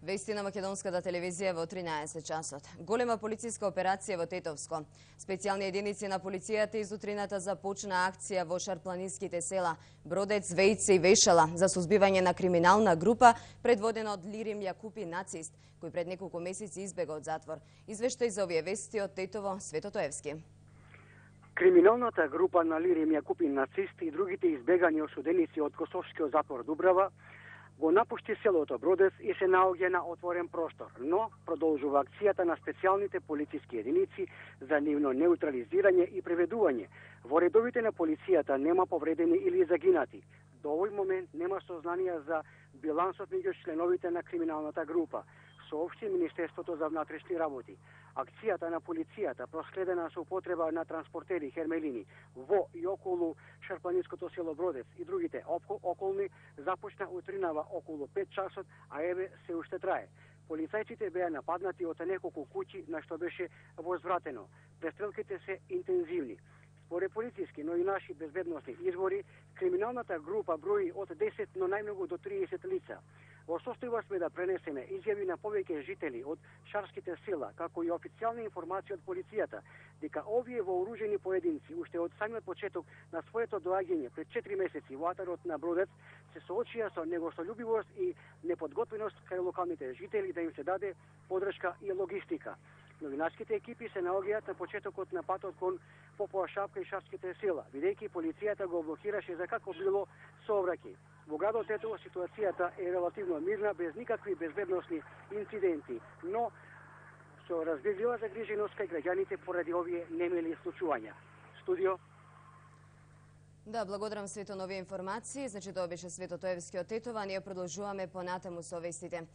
Вести на македонската телевизија во 13 часот. Голема полициска операција во Тетовско. Специјални единици на полицијата изутрината започна акција во шарпланинските села Бродец, Вејце и Вешала за сузбивање на криминална група предводена од Лирим Јакупи нацист, кој пред неколку месеци избега од затвор. Извештај за овие вести од Тетово, Свето Тоевски. Криминалната група на Лирим Јакупи нацист и другите избегани осуденици од Косовскиот затвор Дубрава го напушти селото Бродец и се наоѓа на отворен простор, но продолжува акцијата на специјалните полициски единици за нивно неутрализирање и преведување. Во редовите на полицијата нема повредени или загинати. До овој момент нема сознанија за билансот меѓу членовите на криминалната група, соопшти Министерството за внатрешни работи. Акцијата на полицијата, проследена со употреба на транспортери Хермелини во и околу шарпланинското село Бродец и другите околни, започна утринава околу 5 часот, а еве се уште трае. Полицајците беа нападнати од неколку куќи на што беше возвратено. Престрелките се интензивни. Според полициски, но и наши безбедносни извори, криминалната група брои од 10, но најмногу до 30 лица. Во состојба сме да пренесеме изјави на повеќе жители од шарските села, како и официјални информации од полицијата, дека овие вооружени поединци уште од самиот почеток на своето доаѓање пред 4 месеци во атарот на Бродец се соочија со негостољубивост и неподготвеност кај локалните жители да им се даде подршка и логистика. Новинарските екипи се наоѓаат на почетокот на патот кон Попова Шапка и шарските села, бидејќи полицијата го блокираше за како било сообраќај. Во градот Тетово ситуацијата е релативно мирна, без никакви безбедносни инциденти, но со разбирлива загриженост кај граѓаните поради овие немили случувања. Студио. Да, благодарам Свето на овие информации. Значи тоа беше Свето Тоевски од Тетова, ние продолжуваме понатаму со вестите.